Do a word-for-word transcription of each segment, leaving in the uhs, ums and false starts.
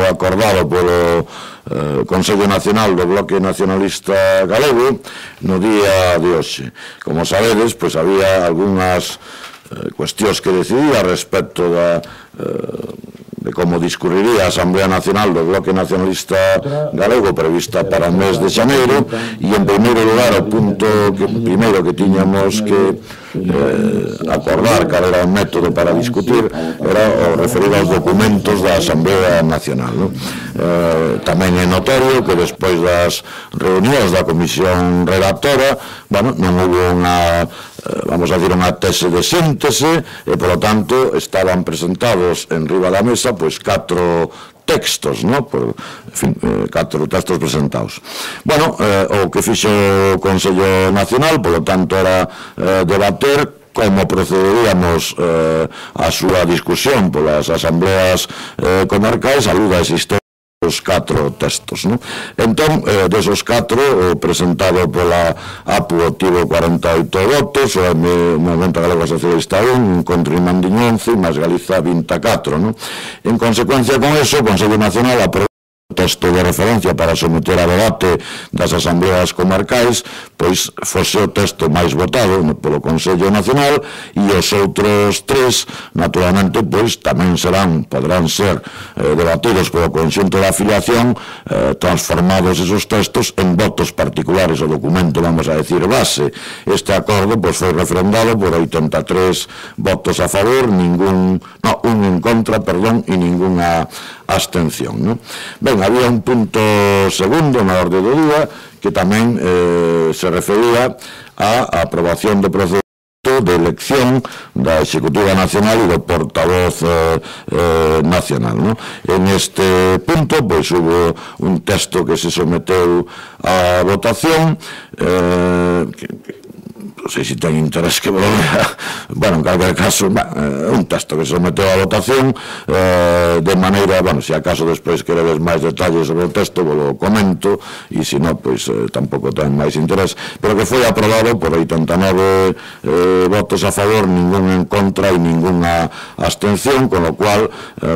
acordado polo eh, Consello Nacional do Bloque Nacionalista Galego no día de hoxe. Como sabedes, pois había algunhas eh, cuestións que decidía respecto da eh, de como discurriría a Asamblea Nacional do Bloque Nacionalista Galego prevista para o mes de xaneiro, e en primeiro lugar o punto que primeiro que tiñamos que eh, acordar cal era o método para discutir era o referido aos documentos da Asamblea Nacional, no? eh, tamén é notorio que despois das reunións da Comisión Redactora, bueno, non houve unha vamos a decir, unha tese de síntese e, polo tanto, estaban presentados en riba da mesa, pois, catro textos, no? Por, en fin, eh, catro textos presentados. Bueno, eh, o que fixo o Consello Nacional, polo tanto, era eh, debater como procederíamos eh, a súa discusión polas asambleas eh, comarcais, a luz da existencia os catro textos, non? Entón, eh, desos catro, o presentado pola A P U obtivo cuarenta e oito votos, o Movemento Galego Socialista un, contra Mandiño once, máis Galiza vinte e catro, non? En consecuencia con eso, o Consello Nacional aprobou o texto de referencia para someter a debate das asambleas comarcais, pois fose o texto máis votado polo Consello Nacional, e os outros tres, naturalmente, pois tamén serán, poderán ser eh, debatidos polo conxunto da afiliación, eh, transformados esos textos en votos particulares, o documento, vamos a decir, base. Este acordo pois foi refrendado por oitenta e tres votos a favor, ningún, no, un en contra, perdón, e ningunha abstención, non? Ben, había un punto segundo na orde do día que tamén eh, se refería á aprobación do procedimento de elección da Executiva Nacional e do portavoz eh, eh, nacional, non? En este punto, pois, hubo un texto que se someteu á votación, eh, que, que non sei se ten interés que volvera, bueno, en calquer caso, un texto que se someteu a votación de maneira, bueno, se acaso despois queredes máis detalles sobre o texto, vos lo comento, e se non, pois tampouco ten máis interés, pero que foi aprobado por oitenta e nove votos a favor, ningún en contra e ningunha abstención, con lo cual,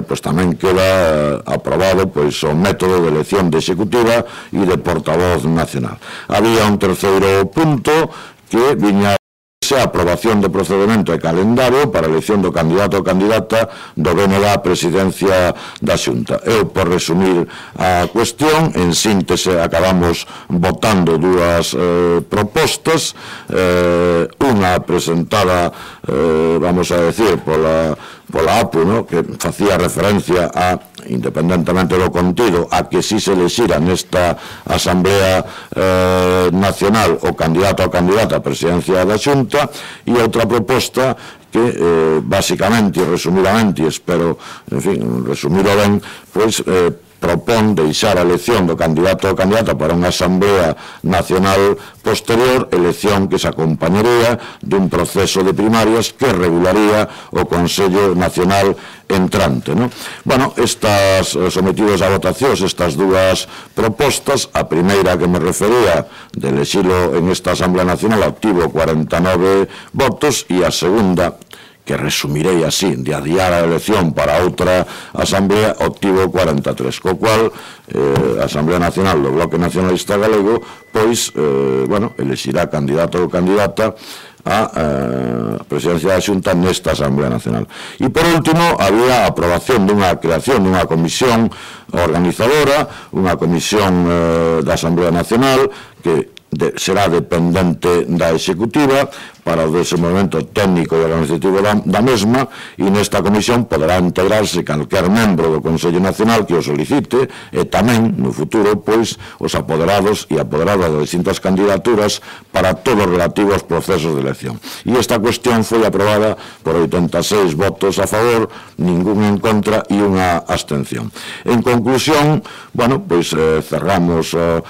pois tamén queda aprobado, pois, o método de elección de executiva e de portavoz nacional. Había un terceiro punto que viña a aprobación de procedimento e calendario para a elección do candidato ou candidata do B N da presidencia da Xunta. Eu, por resumir a cuestión, en síntese acabamos votando dúas eh, propostas, eh, unha presentada, eh, vamos a decir, pola pola A P U, no? Que facía referencia a, independentemente do contido, a que si se elexira nesta Asamblea eh, Nacional o candidato ou candidata a presidencia da Xunta, e outra proposta que, eh, basicamente, resumidamente, espero, en fin, resumiro ben, pois, eh, propón deixar a elección do candidato ou candidata para unha Asamblea Nacional posterior, elección que se acompañaría dun proceso de primarias que regularía o Consello Nacional entrante, ¿no? Bueno, estas sometidos a votacións, estas dúas propostas, a primeira que me refería de elexilo en esta Asamblea Nacional obtivo cuarenta e nove votos, e a segunda, que resumirei así, de adiar a elección para outra asamblea, obtivo cuarenta e tres, co cual eh, a Asamblea Nacional do Bloque Nacionalista Galego, pois, eh, bueno, elexirá candidato ou candidata a eh, presidencia da Xunta nesta Asamblea Nacional. E, por último, había a aprobación dunha creación dunha comisión organizadora, unha comisión eh, da Asamblea Nacional, que de, será dependente da Executiva para o desenvolvemento técnico e organizativo da, da mesma, e nesta comisión poderá integrarse calquer membro do Consello Nacional que o solicite, e tamén, no futuro, pois, os apoderados e apoderadas das distintas candidaturas para todo relativo aos procesos de elección. E esta cuestión foi aprobada por oitenta e seis votos a favor, ningún en contra e unha abstención. En conclusión, bueno, pois eh, cerramos eh,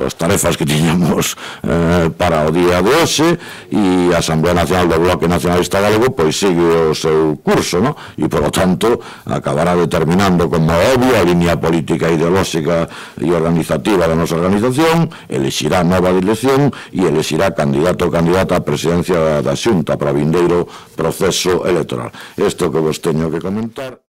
as tarefas que tiñamos eh, para o día de hoxe, e a Asamblea Nacional do Bloque Nacionalista Galego pois sigue o seu curso, no? E, por lo tanto, acabará determinando como obvio a línea política, ideolóxica e organizativa da nosa organización, elexirá nova elección e elexirá candidato ou candidata á presidencia da Xunta para vindeiro proceso electoral. Isto que vos teño que comentar.